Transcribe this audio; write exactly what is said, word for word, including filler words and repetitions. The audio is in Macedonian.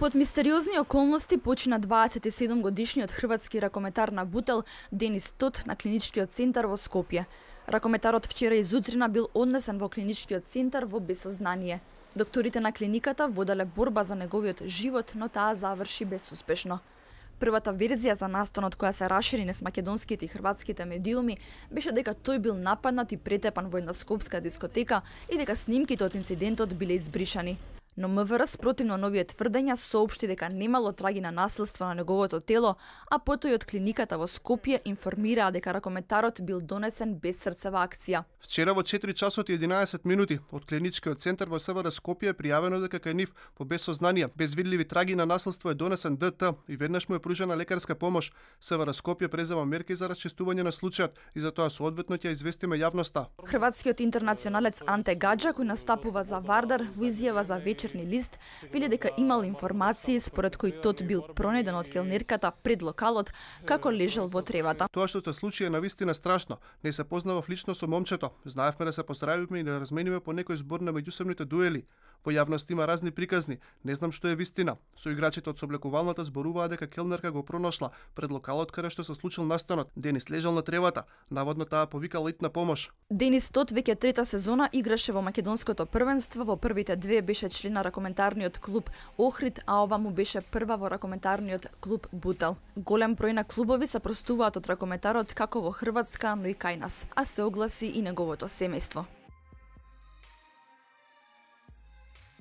Под мистериозни околности почина дваесет и седум годишниот хрватски ракометар на бутел Денис Тот на клиничкиот центар во Скопје. Ракометарот вчера изутрина бил однесен во клиничкиот центар во безсознание. Докторите на клиниката воделе борба за неговиот живот, но таа заврши безуспешно. Првата верзија за настанот која се расшири низ македонските и хрватските медиуми беше дека тој бил нападнат и претепан во една скопска дискотека и дека снимките од инцидентот биле избришани. Но МВР спротивно новие тврдења соопшти дека немало траги на насилство на неговото тело, а потоа од клиниката во Скопје информираа дека ракометарот бил донесен без срцева акција. Вчера во четири часот и единаесет минути од клиничкиот центар во СВР Скопје е пријавено дека кај нив во безсознание, без видливи траги на насилство е донесен ДТ и веднаш му е пружена лекарска помош. СВР Скопје презема мерки за расчистување на случајот и затоа соодветно ќе известиме јавноста. Хрватскиот интернационалец Анте Гаджа, кој настапува за Вардар, во изјава за Вечерни лист, вели дека имал информации според кои Тот бил пронеден од келнерката пред локалот како лежал во тревата. Тоа што се случи е навистина страшно. Не се познавав лично со момчето. Знаевме да се поздравивме и да размениме по некој збор на меѓусебните дуели. Во јавност има разни приказни. Не знам што е вистина. Соиграчите од соблекувалната зборуваа дека келнерка го пронашла пред локалот каде што се случил настанот. Денис лежал на тревата. Наводно таа повикала итна помош. Денис Тот веќе трета сезона играше во македонското првенство, во првите две беше член на ракометарниот клуб Охрид, а ова му беше прва во ракометарниот клуб Бутел. Голем број на клубови се простуваат од ракометарот како во Хрватска, но и кај нас, а се огласи и неговото семејство.